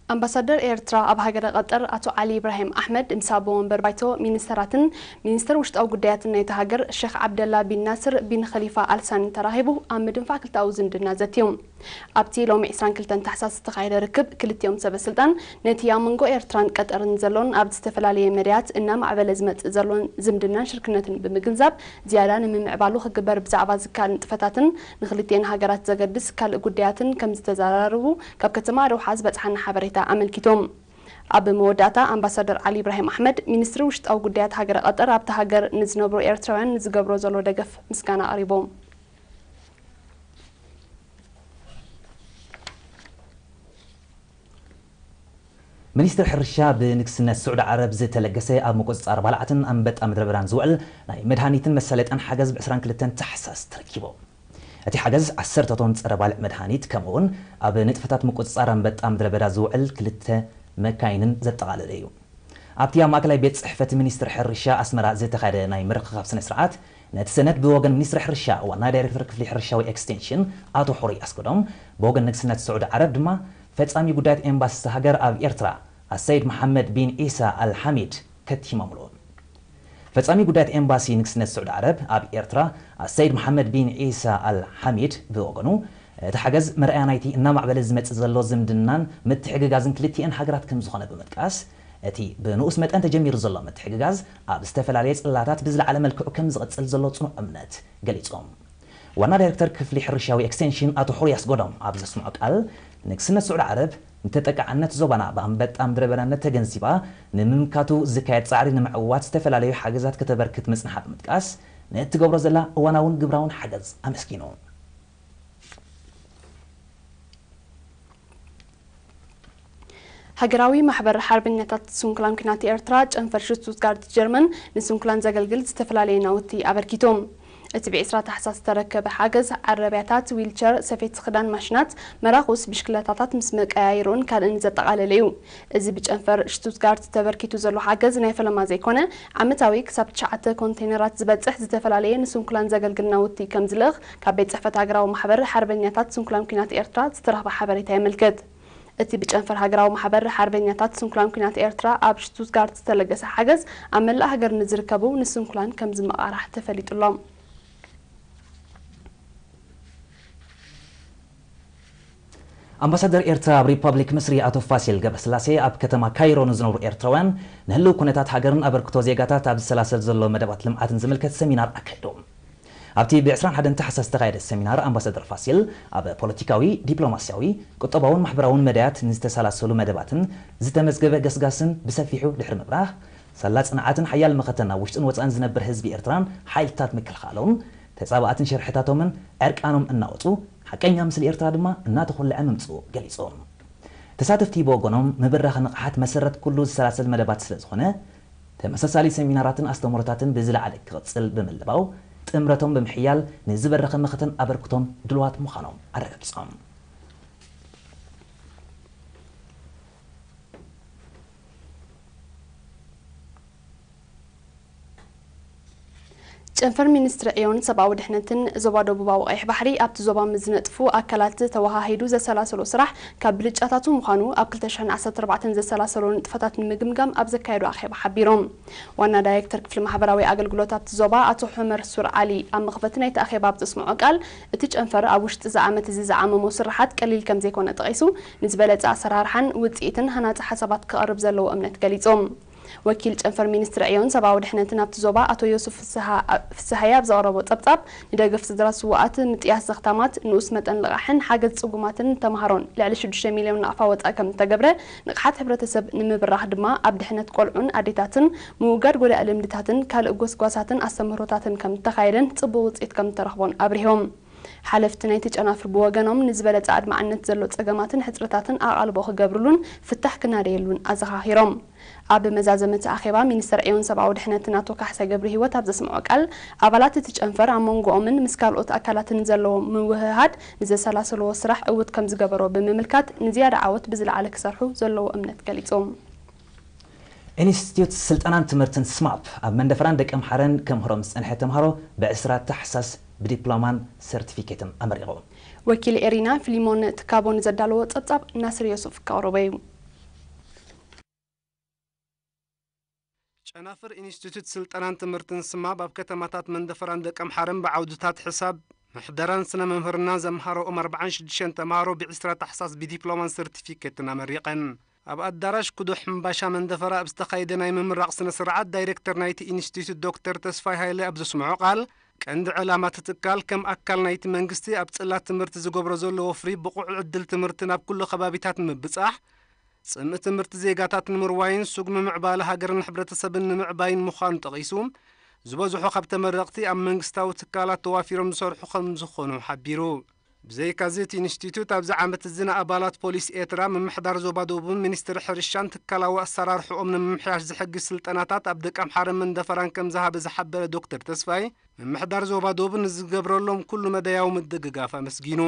ኣምባሳደር ኤርትራ ኣብ ሃገረ ቀጠር ኣቶ ዓሊ ኢብራሂም ኣሕመድ ምስ ኣቦ ወንበር ባይቶ ሚኒስተራትን ሚኒስተር ውሽጣዊ ጉዳያትን ናይታ ሃገር ሸኽ ዓብደላ ቢን ናስር ቢን ኸሊፋ ኣልሳኒ ተራኺቡ ኣብ ምድንፋዕ ክልተኣዊ ዝምድና ዘትዮም። ኣብቲ ሎሚ ዕስራን ክልተን ታሕሳስ ዝተኻየደ ርክብ ክልቲኦም ሰበ ስልጣን ነቲ ኣብ መንጎ ኤርትራን ቀጠርን ዘሎን ኣብ ዝተፈላለየ መዳያት እናማዕበለ ዝመጽእ ዘሎን ዝምድናን ሽርክነትን ብምግንዛብ ዝያዳ ንምምዕባሉ ክግበር ብዛዕባ ዝከኣል ንጥፈታትን ንክልቲኤን ሃገራት ዘገድስ ካልእ ጉዳያትን ከም ዝተዘራረቡ ካብ ከተማ ዶሓ ዝበጽሓና ሓበሬታ ኣመልኪቶም። ኣብ መወዳእታ ኣምባሳደር ዓሊ ኢብራሂም ኣሕመድ ሚኒስትሪ ውሽጣዊ ጉዳያት ሃገረ ቀጠር ኣብታ ሃገር ንዝነብሩ ኤርትራውያን ንዝገብሮ ዘሎ ደገፍ ምስጋና ኣቕሪቦም። ሚኒስትሪ ሕርሻ ብንግስነት ስዑዲ ዓረብ ዝተለገሰ ኣብ ምቁፅፃር ባልዓትን ኣንበጣ ምድረ በዳን ዝውዕል ናይ መድሃኒትን መሳለጥያን ሓገዝ ብ ዕስራን ክልተን ታሕሳስ ተረኪቡ። እቲ ሓገዝ ዓሰርተ ቶን ፀረ ባልዕ መድሃኒት ከምኡ እውን ኣብ ንጥፈታት ምቁፅፃር ኣንበጣ ምድረ በዳ ዝውዕል ክልተ መካይንን ዘጠቓለለ እዩ። ኣብቲ ኣብ ማእከላይ ቤት ፅሕፈት ሚኒስትሪ ሕርሻ ኣስመራ ዝተኻየደ ናይ ምርኽኻብ ስነ ስርዓት ነቲ ሰነድ ብወገን ሚኒስትሪ ሕርሻ ዋና ዳይሬክተር ክፍሊ ሕርሻዊ ኤክስቴንሽን ኣቶ ሑሩይ ኣስገዶም ብወገን ንግስነት ስዑዲ ዓረብ ድማ ፈጻሚ ጉዳያት ኤምባሲ እታ ሃገር ኣብ ኤርትራ ኣሰይድ መሓመድ ቢን ዒሳ ኣል ሓሚድ ከቲሞምሉ። ፈጻሚ ጉዳያት ኤምባሲ ንግስነት ስዑዲ ዓረብ ኣብ ኤርትራ ኣሰይድ መሓመድ ቢን ዒሳ ኣል ሓሚድ ብወገኑ እቲ ሓገዝ መርኣያ ናይቲ እናማዕበለ ዝመጽእ ዘሎ ዝምድናን ምትሕግጋዝን ክልቲኤን ሃገራት ከም ዝኾነ ብምጥቃስ እቲ ብንኡስ መጠን ተጀሚሩ ዘሎ ምትሕግጋዝ ኣብ ዝተፈላለየ ጽላታት ብዝለዓለ መልክዑ ከም ዝቕጽል ዘሎ ጽኑዕ እምነት ገሊጾም። ዋና ዳይሬክተር ክፍሊ ሕርሻዊ ኤክስቴንሽን ኣቶ ሑሩይ ኣስጎዶም ኣብ ዘስምዖ ቃል ንግስነት ስዑዲ ዓረብ ንተጠቃዕነት ዞባና ብኣንበጣ ምድረ በዳነት ተገንዚባ ንምምካቱ ዝካየድ ጻዕሪ ንምዕዋት ዝተፈላለዩ ሓገዛት ከተበርክት ምጽንሓ ብምጥቃስ ንእትገብሮ ዘላ እዋናውን ግብራውን ሓገዝ ኣመስጊኑ። ሃገራዊ ማሕበር ሓርበኛታት ስንኩላን ኲናት ኤርትራ ጨንፈር ሽቱትጋርት ጀርመን ንስንኩላን ዘገልግል ዝተፈላለየ ናውቲ ኣበርኪቶም። እቲ ብ ዕስራ ታሕሳስ ዝተረከበ ሓገዝ ዓረብያታት፣ ዊልቸር፣ ሰፌት ክዳን ማሽናት፣ መራኹስ፣ ብሽክለታታት ምስ መቀያይሮን ካልእን ዘጠቓለለ እዩ። እዚ ብጨንፈር ሽቱትጋርት ተበርኪቱ ዘሎ ሓገዝ ናይ ፈለማ ዘይኮነ ዓመታዊ ክሳብ ትሽዓተ ኮንቴነራት ዝበጽሕ ዝተፈላለየ ንስንኩላን ዘገልግል ናውቲ ከም ዝልእኽ ካብ ቤት ጽሕፈት ሃገራዊ ማሕበር ሓርበኛታት ስንኩላን ኲናት ኤርትራ ዝተረኽበ ሓበሬታ የመልክት። እቲ ብጨንፈር ሃገራዊ ማሕበር ሓርበኛታት ስንኩላን ኲናት ኤርትራ ኣብ ሽቱትጋርት ዝተለገሰ ሓገዝ ኣብ መላእ ሃገር ንዝርከቡ ንስንኩላን ከም ዝመቓራሕ ተፈሊጡሎም። ኣምባሳደር ኤርትራ ኣብ ሪፓብሊክ ምስሪ ኣቶ ፋሲል ገብረስላሴ ኣብ ከተማ ካይሮ ንዝነብሩ ኤርትራውያን ንህልው ኩነታት ሃገርን ኣበርክቶ ዜጋታት ኣብ ዝሰላሰል ዘሎ መደባት ልምዓትን ዝምልከት ሰሚናር ኣካይዶም። ኣብቲ ብ ዕስራን ሓደን ታሕሳስ ዝተኻየደ ሰሚናር ኣምባሳደር ፋሲል ኣብ ፖለቲካዊ፣ ዲፕሎማስያዊ፣ ቁጠባውን ማሕበራውን መዳያት ንዝተሰላሰሉ መደባትን ዝተመዝገበ ገስጋስን ብሰፊሑ ድሕሪ ምብራህ፣ ሳላ ጽንዓትን ሓያል መኸተን ኣብ ውሽጥን ወጻእን ዝነብር ህዝቢ ኤርትራን ሓይልታት ምክልኻሎም ተጻባእትን ሽርሕታቶምን ዕርቃኖም እናወጹ ሓቀኛ ምስሊ ኤርትራ ድማ እናተኾልዐ ምምጽኡ ገሊጾም። ተሳተፍቲ ብወገኖም ምብራኽ ንቕሓት መሰረት ኩሉ ዝሰላሰል መደባት ስለ ዝኾነ ተመሳሳሊ ሰሚናራትን ኣስተምህሮታትን ብዝለዓለ ክቕጽል ብምልባው ጥምረቶም ብምሕያል ንዝበረኸ መኸተን ኣበርክቶም ድልዋት ምዃኖም ኣረጋጊጾም። ጨንፈር ሚኒስትሪ ዕዮን ሰብኣዊ ድሕነትን ዞባ ደቡባዊ ቀይሕ ባሕሪ ኣብቲ ዞባ ምስ ዝነጥፉ ኣካላት ተወሃሂዱ ዘሰላሰሎ ስራሕ ካብ ብልጫታቱ ምዃኑ ኣብ ክልተ ሽሕን ዓሰርተ ኣርባዕተን ዘሰላሰሎ ንጥፈታት ንምግምጋም ኣብ ዘካየዶ ኣኼባ ሓቢሮም። ዋና ዳይሬክተር ክፍሊ ማሕበራዊ ኣገልግሎት ኣብቲ ዞባ ኣቶ ሑመር ሱር ዓሊ ኣብ መኽፈቲ ናይቲ ኣኼባ ኣብ ዘስምዖ ቃል እቲ ጨንፈር ኣብ ውሽጢ እዚ ዓመት እዚ ዝዓመሞ ስራሓት ቀሊል ከም ዘይኮነ ጠቒሱ ንዝበለጸ ኣሰራርሓን ውጽኢትን ሃናጺ ሓሳባት ክቐርብ ዘለዎ እምነት ገሊጾም። ወኪል ጨንፈር ሚኒስትሪ ዕዮን ሰብኣዊ ድሕነትን ኣብቲ ዞባ ኣቶ ዮሱፍ ፍስሃ- ፍስሃየ ኣብ ዘቕረቦ ጸብጻብ ንደገፍ ስድራ ስውኣት፣ ምጥያስ ዘኽታማት፣ ንኡስ መጠን ልቓሕን ሓገዝ ጽጉማትን ተምሃሮን ልዕሊ ሽዱሽተ ሚልዮን ናቕፋ ወጻኢ ከም እተገብረ ንቕሓት ሕብረተሰብ ንምብራኽ ድማ ኣብ ድሕነት ቆልዑን ኣዴታትን ምውጋድ ጎዳኢ ልምድታትን ካልእ ጎስጓሳትን ኣስተምህሮታትን ከም እተኻየደን ጽቡቕ ውጽኢት ከም እተረኽቦን ኣብሪሆም። ሓለፍቲ ናይቲ ጨናፍር ብወገኖም ንዝበለጸ ኣድማዕነት ዘሎ ጸገማትን ሕጽረታትን ኣቓልቦ ክገብርሉን ፍታሕ ክናደየሉን ኣዘኻኺሮም። ኣብ መዛዘመ እቲ ኣኼባ ሚኒስተር ዕዮን ሰብኣዊ ድሕነትን ኣቶ ካሕሳይ ገብረሂወት ኣብ ዘስምዖ ቃል ኣባላት እቲ ጨንፈር ኣብ መንጎኦምን ምስ ካልኦት ኣካላትን ዘለዎም ምውህሃድ ንዘሰላሰልዎ ስራሕ ዕውት ከም ዝገበሮ ብምምልካት ንዝያዳ ዓወት ብዝለዓለ ክሰርሑ ዘለዎ እምነት ገሊጾም። ኢንስቲትዩት ስልጠናን ትምህርትን ስማፕ ኣብ መንደፈራን ደቀምሓረን ከምህሮም ዝጸንሐ ተምሃሮ ብ ዕስራ ታሕሳስ ብዲፕሎማን ሰርቲፊኬትን ኣመሪቑ። ወኪል ኤሪና ፊሊሞን ትካቦ ንዘዳለዎ ጸብጻብ ናስር ዮሱፍ ከቕርቦ እዩ። ጨናፍር ኢንስቲትዩት ስልጠናን ትምህርትን ስማብ ኣብ ከተማታት መንደፈራን ደቀምሓረን ብዓውድታት ሕሳብ፣ ምሕደራን ስነ መምህርናን ዘምሃረኦም ኣርባዓን ሽዱሽተን ተምሃሮ ብዒስራ ታሕሳስ ብዲፕሎማን ሰርቲፊኬትን ኣመሪቐን። ኣብ ኣዳራሽ ኩዶ ሕምባሻ መንደፈራ ኣብ ዝተኻየደ ናይ ምምራቕ ስነ ስርዓት፣ ዳይሬክተር ናይቲ ኢንስቲትዩት ዶክተር ተስፋይ ሃይለ ኣብ ዘስምዖ ቃል፣ ቀንዲ ዕላማ እቲ ትካል ከም ኣካል ናይቲ መንግስቲ ኣብ ጽላት ትምህርቲ ዝገብሮ ዘሎ ወፍሪ ብቑዕ ዕድል ትምህርቲ ናብ ኩሉ ከባቢታት ንምብጻሕ፣ ጽምኢ ትምህርቲ ዜጋታት ንምርዋይን ስጉሚ ምዕባለ ሃገርን ሕብረተሰብን ንምዕባይን ምዃኑ ጠቒሱ፣ ዝበዝሑ ካብ ተመረቕቲ ኣብ መንግስታዊ ትካላት ተዋፊሮም ዝሰርሑ ከም ዝኾኑ ሓቢሩ። ብዘይካዚ እቲ ኢንስቲትዩት ኣብዚ ዓመት እዚ ንኣባላት ፖሊስ ኤርትራ፣ ምምሕዳር ዞባ ደቡብን ሚኒስትሪ ሕርሻን ትካላዊ ኣሰራርሕኦም ንምምሕያሽ ዝሕግዝ ስልጠናታት ኣብ ደቀምሓረን መንደፈራን ከም ዝሃበ ዝሓበረ ዶክተር ተስፋይ፣ ምምሕዳር ዞባ ደቡብ ንዝገብረሎም ኩሉ መዳያዊ ምድግጋፍ ኣመስጊኑ።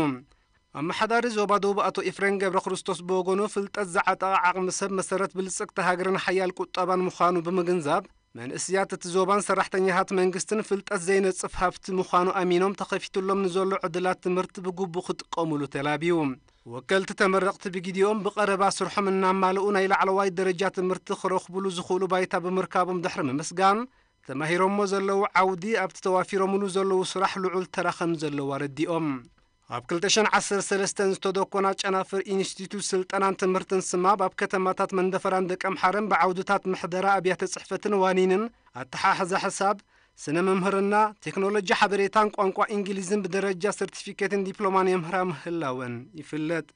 ኣመሓዳሪ ዞባ ደቡብ ኣቶ ኤፍሬም ገብረ ክርስቶስ ብወገኑ፣ ፍልጠት ዝዓጠቐ ዓቕሚ ሰብ መሰረት ብልጽግቲ ሃገርን ሓያል ቁጠባን ምዃኑ ብምግንዛብ፣ መንእስያት እቲ ዞባን ሰራሕተኛታት መንግስትን ፍልጠት ዘይነጽፍ ሃብቲ ምዃኑ ኣሚኖም፣ ተኸፊቱሎም ንዘሎ ዕድላት ትምህርቲ ብግቡእ ክጥቀሙሉ ተላብዩ። ወከልቲ ተመረቕቲ ብግዲኦም ብቐረባ ስርሖም እናማልኡ ናይ ላዕለዋይ ደረጃ ትምህርቲ ክረኽቡሉ ዝኽእሉ ባይታ ብምርካቦም ድሕሪ ምምስጋን፣ ተማሂሮሞ ዘለዉ ዓውዲ ኣብቲ ተዋፊሮምሉ ዘለዉ ስራሕ ልዑል ተራ ከም ዘለዎ ኣረዲኦም። ኣብ ክልተ ሽሕን ዓሰርተ ሰለስተን ዝተደኮና ጨናፍር ኢንስቲትዩት ስልጠናን ትምህርትን ስማብ ኣብ ከተማታት መንደፈራን ደቀምሓረን ብዓውድታት ምሕደራ ኣብያተ ጽሕፈትን ዋኒንን ኣተሓሕዛ ሕሳብ፣ ስነ መምህርና፣ ቴክኖሎጂ ሓበሬታን ቋንቋ እንግሊዝን ብደረጃ ሰርቲፊኬትን ዲፕሎማን የምህራ ምህላወን ይፍለጥ።